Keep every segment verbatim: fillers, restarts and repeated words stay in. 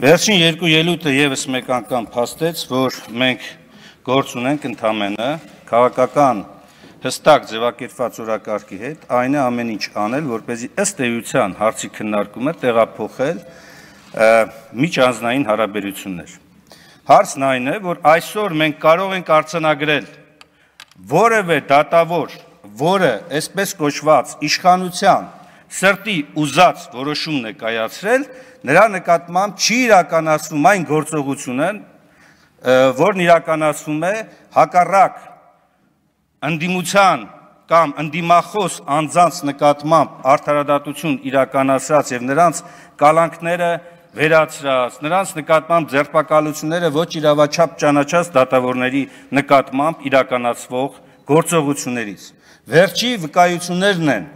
Վերջին երկու ելույթը եւս մեկ անգամ փաստեց, որ մենք գործ ունենք ընդամենը քաղաքական հստակ ձևակերպված օրակարգի հետ, այն է ամեն ինչ անել, որպեսզի ըստ էության հարցի քննարկումը տեղափոխել միջանձնային հարաբերություններ։ Հարցն այն է, որ այսօր մենք կարող ենք արձանագրել որևէ դատավոր, որը այսպես կոչված իշխանության սրտի ուզած որոշումն է կայացրել, նրա նկատմամբ չի իրականացվում այն գործողությունը, որն իրականացվում է հակառակ ընդդիմության կամ ընդդիմախոս անձանց նկատմամբ արդարադատություն իրականացրած եւ նրանց կալանքները վերացրած, նրանց նկատմամբ ձերբակալությունները ոչ իրավաչափ ճանաչած դատավորների նկատմամբ իրականացվող գործողություններից։ Վերջի վկայություններն են,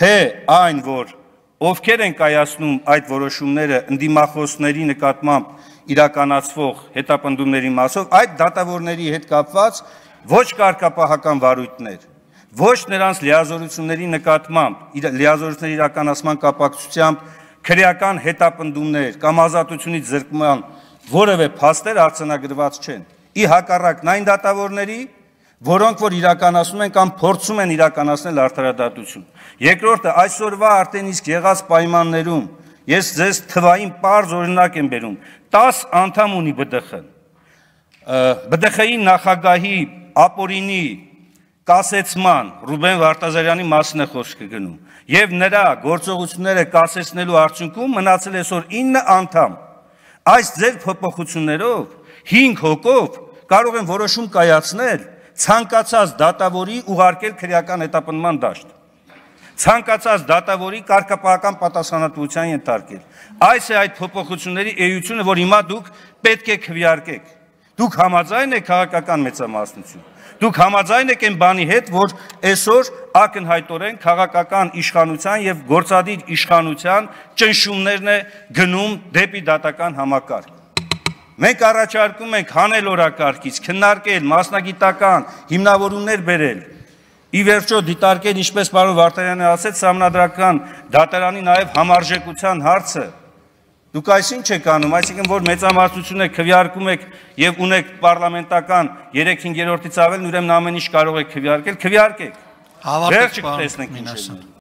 թե այն, որ ովքեր են կայացնում այդ որոշումները ընդդիմախոսների նկատմամբ իրականացվող հետապնդումների մասով, այդ դատավորների հետ կապված ոչ կարգապահական վարույթներ, ոչ նրանց լիազորությունների նկատմամբ լիազորությունների իրականացման կապակցությամբ քրեական հետապնդումներ կամ ազատությունից զրկման որևէ փաստեր արձանագրված չեն։ Ի հակառակն այն դատավորների, որոնք որ իրականացնում են կամ փորձում են իրականացնել արդարադատություն։ Երկրորդը, այսօրվա արդեն իսկ եղած պայմաններում ես ձեզ թվային պարզ օրինակ եմ բերում, տաս անդամ ունի B D X-ը։ B D X-ի նախագահի ապօրինի կասեցման Ռուբեն Վարդազարյանի մասին է խոսքը գնում եւ նրա գործողությունները կասեցնելու արդյունքում մնացել է այսօր ինը անդամ։ Այս ձեր փոփոխություններով հինգ հոգով կարող են որոշում կայացնել ցանկացած դատավորի ուղարկել քրեական հետապնդման դաշտ, ցանկացած դատավորի կարգապահական պատասխանատվության ենթարկել։ Այս է այդ փոփոխությունների էությունը, որ հիմա դուք պետք է քվեարկեք։ Դուք համաձայն եք քաղաքական մեծամասնություն։ Դուք համաձայն եք այն բանի հետ, որ այսօր ակնհայտորեն քաղաքական իշխանության եւ գործադիր իշխանության ճնշումներն է գնում դեպի դատական համակարգ։ Մենք առաջարկում ենք հանել օրակարգից, քննարկել, մասնագիտական հիմնավորումներ բերել, ի վերջո դիտարկել, ինչպես պարոն Վարդանյանը ասեց, սահմանադրական դատարանի նաև համարժեքության հարցը։ Դուք այսինչ եք անում, այսինքն որ մեծամասնություն եք քվեարկում եք եւ ունեք պարլամենտական երեք հինգերորդից ավելն, ուրեմն ամեն ինչ կարող եք քվեարկել, քվեարկեք։ Վերջը կտեսնենք ինչ է։